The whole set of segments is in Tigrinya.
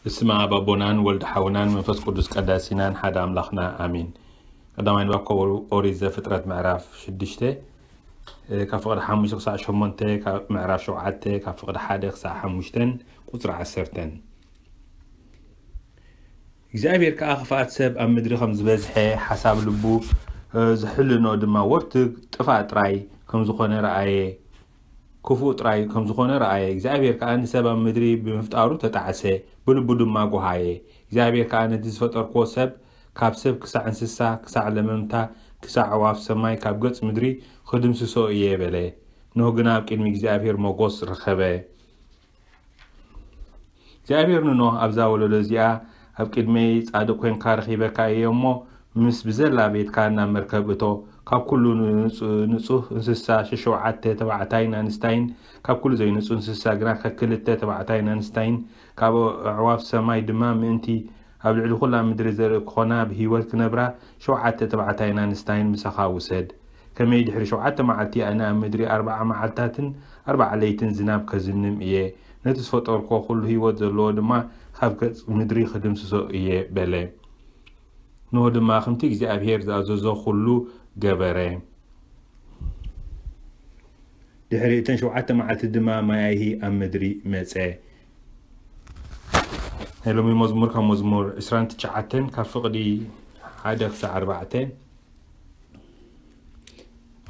ብስመ ኣብ ኣቦናን ወልድ ሓውናን መንፈስ ቅዱስ ቀዳሲናን ሓደ ኣምላኽና ኣሜን። ቀዳማይ ንባብ ካብ ኦሪት ዘፍጥረት ምዕራፍ ሽዱሽተ፣ እ፣ ካብ ፍቕዲ ሓሙሽተ ክሳዕ ሸሞንተ፣ ካብ ምዕራፍ ሸውዓተ፣ ካብ ፍቕዲ ሓደ ክሳዕ ሓሙሽተን ቁጽሪ ዓሰርተን። እግዚኣብሔር ከኣ ክፍኣት ሰብ ኣብ ምድሪ ከም ዝበዝሐ ሓሳብ ልቡ፣ እ፣ ዝሕልኖ ድማ ወርትግ ጥፋእ ጥራይ ከም ዝኾነ ረኣየ። ክፉእ ጥራይ ከም ዝኾነ ረኣየ። እግዚኣብሔር ከኣ ንሰብ ኣብ ምድሪ ብምፍጣሩ ተጣዕሰ፣ ብልቡ ድማ ጎሃየ። እግዚኣብሔር ከኣ ነቲ ዝፈጠርክዎ ሰብ፣ ካብ ሰብ ክሳዕ እንስሳ፣ ክሳዕ ለመምታ፣ ክሳዕ ኣዕዋፍ ሰማይ ካብ ገጽ ምድሪ ክድምስሶ እየ በለ። ኖህ ግና ኣብ ቅድሚ እግዚኣብሔር ሞጎስ ረኸበ። እግዚኣብሔር ንኖህ፣ ኣብዛ ወለዶ እዚኣ ኣብ ቅድመይ ጻድቕ ኮይንካ ረኺበካ እየ እሞ፣ ምስ ብዘላ ቤትካ ናብ መርከብ እቶ። ካብ ኩሉ ንጹ-፣ ንጹህ እንስሳ ሸሸውዓተ ተባዕታይን ኣንስታይን፣ ካብ ኩሉ ዘይንጹህ እንስሳ ግና ከክልተ ተባዕታይን ኣንስታይን፣ ካብ ኣዕዋፍ ሰማይ ድማ ምእንቲ ኣብ ልዕሊ ኩላ ምድሪ ዘርኢ ክኾና ብህይወት ክነብራ ሸውዓተ ተባዕታይን ኣንስታይን ምሳኻ ውሰድ። ከመይ ድሕሪ ሸውዓተ መዓልቲ ኣነ ኣብ ምድሪ ኣርብዓ መዓልታትን ኣርብዓ ለይትን ዝናብ ከዝንም እየ፣ ነቲ ዝፈጠርኮ ኩሉ ህይወት ዘለዎ ድማ ካብ ገጽ ምድሪ ክድምስሶ እየ በለ። ኖህ ድማ ከምቲ እግዚኣብሔር ዝኣዘዞ ኩሉ ገበረ። ድሕሪ እተን ሸውዓተ መዓልቲ ድማ ማይ ኣይሂ ኣብ ምድሪ መጸ። ናይ ሎሚ መዝሙር ካብ መዝሙር ዕስራን ትሽዓተን ካብ ፍቕዲ ሓደ ክሳዕ ኣርባዕተ።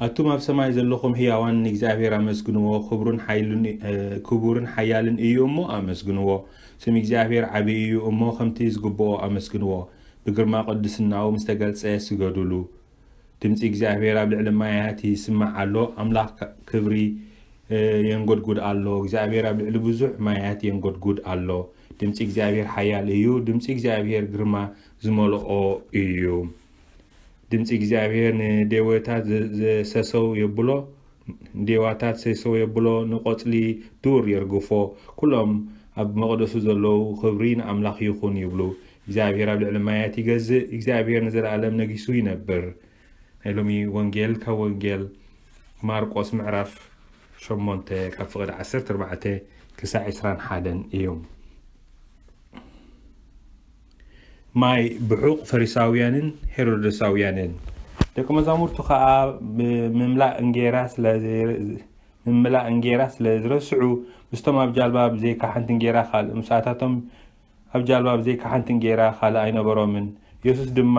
ኣቱም ኣብ ሰማይ ዘለኹም ህያዋን ንእግዚኣብሔር ኣመስግንዎ፣ ክብሩን ሓይሉን፣ እ፣ ክቡርን ሓያልን እዩ እሞ ኣመስግንዎ። ስም እግዚኣብሔር ዓቢ እዩ እሞ ከምቲ ዝግብኦ ኣመስግንዎ። ብግርማ ቅድስናኡ ምስ ተገልጸ ስገዱሉ። ድምጺ እግዚኣብሔር ኣብ ልዕሊ ማያት ይስማዕ ኣሎ። ኣምላኽ ካ-፣ ክብሪ፣ እ፣ የንጎድጉድ ኣሎ። እግዚኣብሔር ኣብ ልዕሊ ብዙሕ ማያት የንጎድጉድ ኣሎ። ድምጺ እግዚኣብሔር ሓያል እዩ። ድምጺ እግዚኣብሔር ግርማ ዝመልኦ እዩ። ድምጺ እግዚኣብሔር ንዴወታት ዘ-፣ ዘሰሰው የብሎ፣ ንዴዋታት ሰሰው የብሎ፣ ንቆጽሊ ዱር የርግፎ። ኩሎም ኣብ መቕደሱ ዘለዉ ክብሪ ንኣምላኽ ይኹን ይብሉ። እግዚኣብሔር ኣብ ልዕሊ ማያት ይገዝእ፣ እግዚኣብሔር ንዘለኣለም ነጊሱ ይነብር። ናይ ሎሚ ወንጌል ካብ ወንጌል ማርቆስ ምዕራፍ ሸሞንተ ካብ ፍቕዲ ዓሰርተ ኣርባዕተ ክሳዕ ዕስራን ሓደን እዩ። ማይ ብሑቕ ፈሪሳውያንን ሄሮድሳውያንን። ደቂ መዛሙርቱ ኸኣ ብምምላእ እንጌራ ስለ ዘይ-፣ ምምላእ እንጌራ ስለ ዝረስዑ፣ ምስቶም ኣብ ጃልባ ብዘይካ ሓንቲ እንጌራ ካልእ፣ ምስኣታቶም ኣብ ጃልባ ብዘይካ ሓንቲ እንጌራ ካልእ ኣይነበሮምን። የሱስ ድማ፣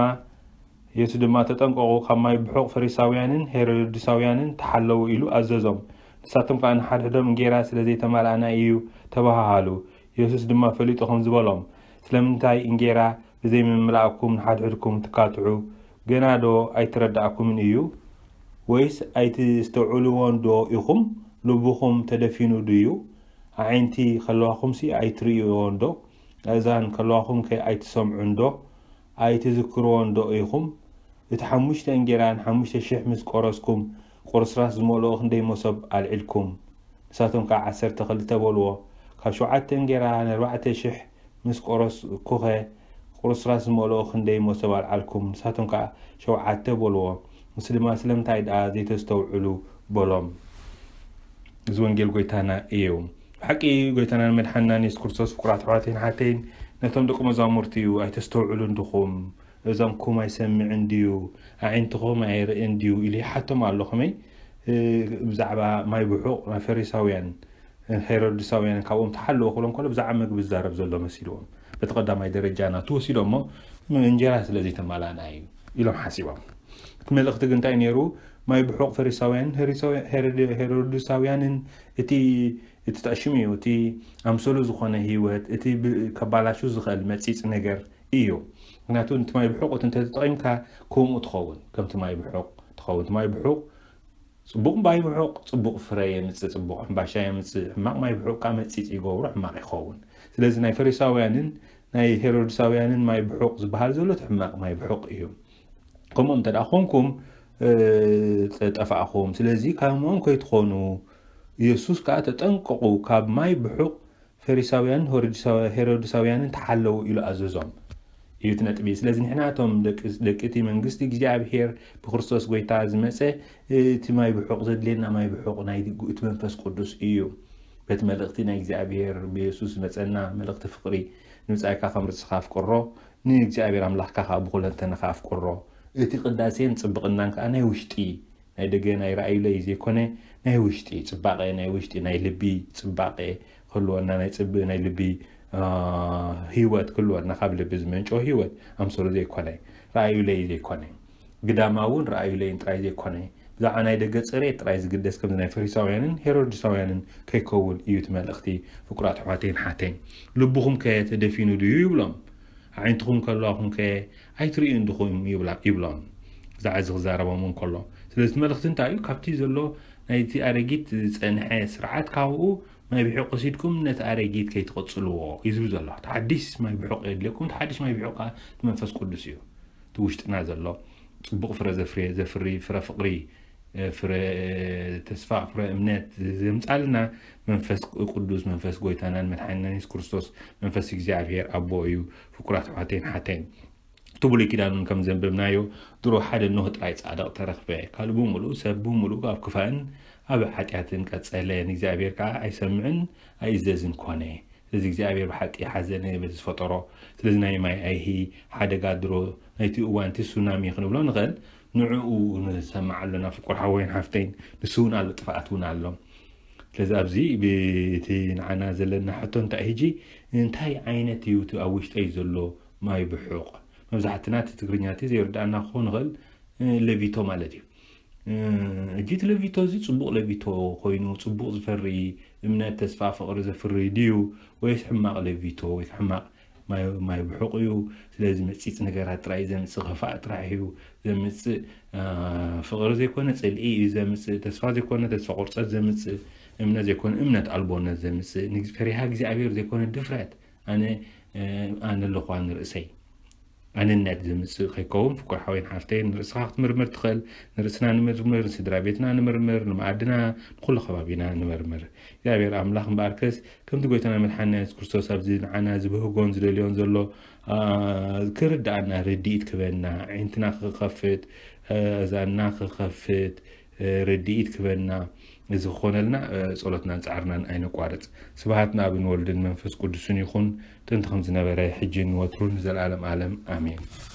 የሱስ ድማ፣ "ተጠንቀቑ፣ ካብ ማይ ብሑቕ ፈሪሳውያንን ሄሮድሳውያንን ተሓለዉ" ኢሉ ኣዘዞም። ንሳቶም ከኣ ንሓድሕዶም፣ "እንጌራ ስለ ዘይተማልኣና እዩ" ተባሃሃሉ። የሱስ ድማ ፈሊጡ ከምዚ በሎም፣ "ስለምንታይ እንጌራ ብዘይምምላእኩም ንሓድሕድኩም ትካትዑ? ገና ዶ ኣይተረዳእኩምን እዩ? ወይስ ኣይትስተውዕልዎን ዶ ኢኹም? ልብኹም ተደፊኑ ድዩ? ኣዒንቲ ከለዋኹምሲ ኣይትርእይዎን ዶ? ኣእዛን ከለዋኹምከ ኣይትሰምዑን ዶ? ኣይትዝክርዎን ዶ ኢኹም? እቲ ሓሙሽተ እንጌራን ሓሙሽተ ሽሕ ምስ ቆረስኩም፣ ቁርስራስ ዝመልኦ ክንደይ መሶብ ኣልዒልኩም?" ንሳቶም ከኣ ዓሰርተ ክልተ በልዎ። ካብ ሸውዓተ እንጌራ ንኣርባዕተ ሽሕ ምስ ቆረስኩኸ፣ ቁርስራስ ዝመልኦ ክንደይ መሶብ ኣልዓልኩም? ንሳቶም ከኣ ሸውዓተ በልዎ። ንሱ ድማ፣ "ስለምንታይ ደኣ ዘይተስተውዕሉ?" በሎም። እዚ ወንጌል ጎይታና እዩ። ብሓቂ ጎይታናን መድሓንናን የሱስ ክርስቶስ፣ ፍቁራት ኣሕዋተይን ሓተይን፣ ነቶም ደቂ መዛሙርቱ እዩ፣ "ኣይተስተውዕሉን ድኹም? እዛንኩም ኣይሰምዕን ድዩ? ኣዒንትኹም ኣይርእን ድዩ?" ኢሉ ይሓቶም ኣሎ። ከመይ? እ፣ ብዛዕባ ማይ ብሑቕ ናይ ፈሪሳውያን፣ እ፣ ሄሮድሳውያን ካብኦም ተሓለወ ክብሎም ከሎ ብዛዕባ መግቢ ዝዛረብ ዘሎ መሲልዎም። በቲ ቀዳማይ ደረጃ ናቱ ወሲዶሞ፣ "እንጀራ ስለ ዘይተማላና እዩ" ኢሎም ሓሲቦም። እቲ መልእኽቲ ግን እንታይ ነይሩ? ማይ ብሑቕ ፈሪሳውያን፣ ሄሪሳውያ-፣ ሄሮድ-፣ ሄሮድሳውያንን እቲ፣ እቲ ጠሽሙ እዩ፣ እቲ ኣምሰሉ ዝኾነ ህይወት፣ እቲ ብ-፣ ከባላሹ ዝኽእል መጺጽ ነገር እዩ። ምክንያቱ፣ እቲ ማይ ብሑቕ እቲ እንተተጠቒምካ፣ ከምኡ ትኸውን፣ ከምቲ ማይ ብሑቕ ትኸውን። እቲ ማይ ብሑቕ፣ ጽቡቕ ማይ ብሑቕ ጽቡቕ ፍረ የምጽእ፣ ጽቡቕ ሕምባሻ የምጽእ፣ ሕማቕ ማይ ብሑቕ ከኣ መጺጽ ይገብሮ፣ ሕማቕ ይኸውን። ስለዚ፣ ናይ ፈሪሳውያንን ናይ ሄሮድሳውያንን ማይ ብሑቕ ዝበሃል ዘሎ፣ እቲ ሕማቕ ማይ ብሑቕ እዩ። ከምኦም እንተ ደኣ ኾንኩም፣ እ፣ ጠፋእኹም። ስለዚ፣ ከምኦም ከይትኾኑ፣ የሱስ ከኣ፣ "ተጠንቀቑ፣ ካብ ማይ ብሑቕ ፈሪሳውያንን ሄሮድሳው-፣ ሄሮድሳውያንን ተሓለዉ" ኢሉ ኣዘዞም እዩ እቲ ነጥቢ። ስለዚ ንሕና እቶም ደቂ፣ ደቂ እቲ መንግስቲ እግዚኣብሔር ብክርስቶስ ጎይታ ዝመጸ፣ እቲ ማይ ብሑቕ ዘድልየና ማይ ብሑቕ ናይ እቲ መንፈስ ቅዱስ እዩ። በቲ መልእኽቲ ናይ እግዚኣብሔር ብየሱስ ዝመጸና መልእኽቲ ፍቕሪ፣ ንብጻይካ ከም ርእስኻ ኣፍቅሮ፣ ንእግዚኣብሔር ኣምላኽካ ከኣ ብኹለንተናኻ ኣፍቅሮ። እቲ ቅዳሴን ጽብቕናን ከኣ ናይ ውሽጢ፣ ናይ ደገ ናይ ረኣዩለይ ዘይኮነ፣ ናይ ውሽጢ ጽባቐ፣ ናይ ውሽጢ ናይ ልቢ ጽባቐ ክህልወና፣ ናይ ጽብ-፣ ናይ ልቢ፣ አ፣ ህይወት ክህልወና፣ ካብ ልቢ ዝመንጨው ህይወት ኣምሰሉ ዘይኮነ፣ ረኣዩለይ ዘይኮነ፣ ግዳማውን ረኣዩለይን ጥራይ ዘይኮነ፣ ብዛዕባ ናይ ደገ ጽሬት ጥራይ ዝግደስ ከምዚ ናይ ፈሪሳውያንን ሄሮድሳውያንን ከይከውን እዩ እቲ መልእኽቲ። ፍቁራት ኣሕዋተይን ሓተይን፣ ልብኹም ከ ተደፊኑ ድዩ ይብሎም። ኣዒንትኹም ከለዋኹም ከ ኣይትርእዩን ድኹም ይብላ-፣ ይብሎም። ብዛዕባ እዚ ክዛረቦም እንከሎ። ስለዚ እቲ መልእኽቲ እንታይ እዩ? ካብቲ ዘሎ ናይቲ ኣረጊት ዝጸንሐ ስርዓት ካብኡ ማይ ብሑቕ ወሲድኩም ነቲ ኣረጊት ከይትቐጽልዎ እዩ ዝብል ዘሎ። ተሓዲስ ማይ ብሑቕ የድልየኩም። ተሓዲስ ማይ ብሑቕ ከኣ እቲ መንፈስ ቅዱስ እዩ። እቲ ውሽጥና ዘሎ ጽቡቕ ፍረ ዘፍርየ-፣ ዘፍሪ ፍረ ፍቕሪ፣ ፍረ ተስፋ፣ ፍረ እምነት ዘምጻልና መንፈስ ቅዱስ፣ መንፈስ ጎይታናን መድሓኒናን የሱስ ክርስቶስ፣ መንፈስ እግዚኣብሔር ኣቦ እዩ። ፍቁራት ኣሕዋተይን ሓተይን፣ እቲ ብሉይ ኪዳን እውን ከም ዘንበብናዮ፣ ድሮ ሓደ ኖህ ጥራይ ጻድቕ ተረኽበ። ካልእ ብምሉኡ፣ ሰብ ብምሉኡ ኣብ ክፋእን ኣብ ሓጢኣትን ቀጸለ። ንእግዚኣብሔር ከኣ ኣይሰምዕን ኣይእዘዝን ኮነ። ስለዚ እግዚኣብሔር ብሓቂ ሓዘነ በቲ ዝፈጠሮ። ስለዚ ናይ ማይ ኣይሂ ሓደጋ ድሮ ናይቲ እዋን እቲ ሱናሚ ክንብሎ ንኽእል። ንዕኡ ንሰምዕ ኣሎና፣ ፍቁር ሓወይን ሓፍተይን። ንሱ እውን ኣሎ፣ ጥፍኣት እውን ኣሎ። ስለዚ ኣብዚ ብቲ ንዓና ዘለና ሕቶ እንታይ ሕጂ፣ እንታይ ዓይነት እዩ እቲ ኣብ ውሽጠይ ዘሎ ማይ ብሑቕ? መብዛሕትና እቲ ትግርኛ እቲ ዘይርድኣና ክኸውን ይኽእል፣ እ፣ ለቪቶ ማለት እዩ። እ፣ ሕጂ እቲ ለቪቶ እዚ ጽቡቕ ለቪቶ ኮይኑ፣ ጽቡቕ ዝፈሪ እምነት፣ ተስፋ፣ ፍቕሪ ዘፍሪ ድዩ? ወይስ ሕማቕ ለቪቶ ወይ ሕማቕ ማይ፣ ማይ ብሑቕ እዩ? ስለዚ መጺጽ ነገራት ጥራይ ዘምጽእ፣ ክፋእ ጥራሕ እዩ ዘምጽእ። እ፣ ፍቕሪ ዘይኮነ ጽልኢ እዩ ዘምጽእ፣ ተስፋ ዘይኮነ ተስፋ ቁርጸት ዘምጽእ፣ እምነት ዘይኮነ እምነት ኣልቦነት ዘምጽእ፣ ንግ-፣ ፈሪሃ እግዚኣብሔር ዘይኮነ ድፍረት፣ ኣነ፣ እ፣ ኣነ ኣለኹዋ ንርእሰይ ኣንነት ዘምጽእ ከይከውን፣ ፍቁር ሓወይን ሓፍተይን፣ ንርእስኻ ክትምርምር ትኽእል። ንርእስና ንምርምር፣ ንስድራ ቤትና ንምርምር፣ ንመኣድና፣ ንኹሉ ከባቢና ንምርምር። እግዚኣብሔር ኣምላኽ እምበኣርከስ፣ ከምቲ ጎይታና መድሓኒና የሱስ ክርስቶስ ኣብዚ ንዓና ዝብህጎን ዝደልዮን ዘሎ፣ ኣ፣ ክርድኣና ርድኢት ክበና፣ ኣዒንትና ክኸፍት፣ ኣእዛንና ክኸፍት፣ ርድኢት ክበና። እዚ ክኾነልና፣ ጸሎትናን ጻዕርናን ኣይነቋርጽ። ስብሃት ንኣብን ወልድን መንፈስ ቅዱስን ይኹን፣ ጥንቲ ከም ዝነበረ፣ ሕጂን ወትሩን ንዘለኣለም ኣለም። ኣሜን።